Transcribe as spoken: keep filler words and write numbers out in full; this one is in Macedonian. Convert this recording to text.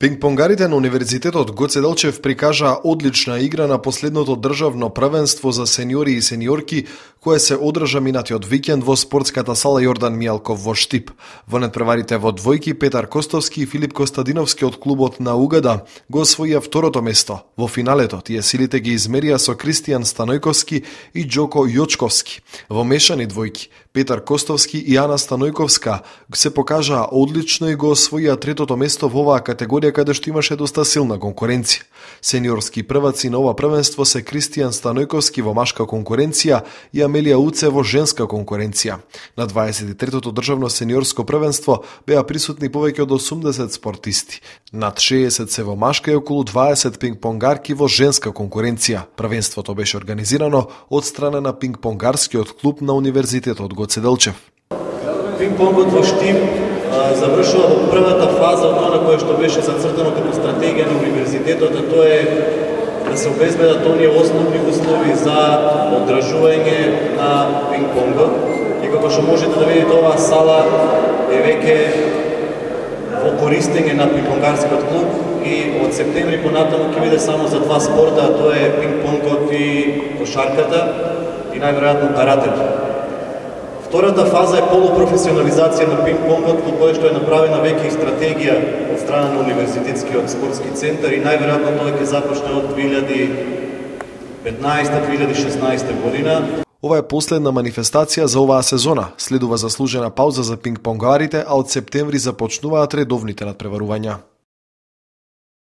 Пингпонгарите на Универзитетот Гоце Делчев прикажаа одлична игра на последното државно првенство за сениори и сениорки, кое се одржа минатиот викенд во спортската сала Јордан Мијалков во Штип. Во надпреварите во двојки Петар Костовски и Филип Костадиновски од клубот на Угада го освоија второто место. Во финалето тие силите ги измерија со Кристијан Станојковски и Џоко Јочковски. Во мешани двојки Петар Костовски и Ана Станојковска се покажаа одлично и го освоија третото место во оваа категорија каде што имаше доста силна конкуренција. Сениорски прваци на ова првенство се Кристијан Станојковски во машка конкуренција и Амелија Уце во женска конкуренција. На дваесет и третото државно сениорско првенство беа присутни повеќе од осумдесет спортисти. Над шеесет се во машка и околу дваесет пингпонгарки во женска конкуренција. Првенството беше организирано од страна на пингпонгарскиот клуб на Универзитетот Гоце Делчев. Пингпонгот во Штип завршува во првата фаза од она кое што беше зацртано како стратегија на универзитетот, а тоа е да се обезбедат оние основни услови за одржување на пингпонгот. И како што можете да видите, оваа сала е веќе во користење на пингпонгарскиот клуб и од септември понатаму ќе биде само за два спорта, а тоа е пингпонгот и кошарката и најверојатно каратето. Втората фаза е полупрофесионализација на пингпонгот, во која што е направена веќе и стратегија од страна на Универзитетскиот спортски центар и најверојатно тоа ќе започне од две илјади и петнаесета - две илјади и шеснаесета година. Ова е последна манифестација за оваа сезона. Следува заслужена пауза за пингпонгарите, а од септември започнуваат редовните надпреварувања.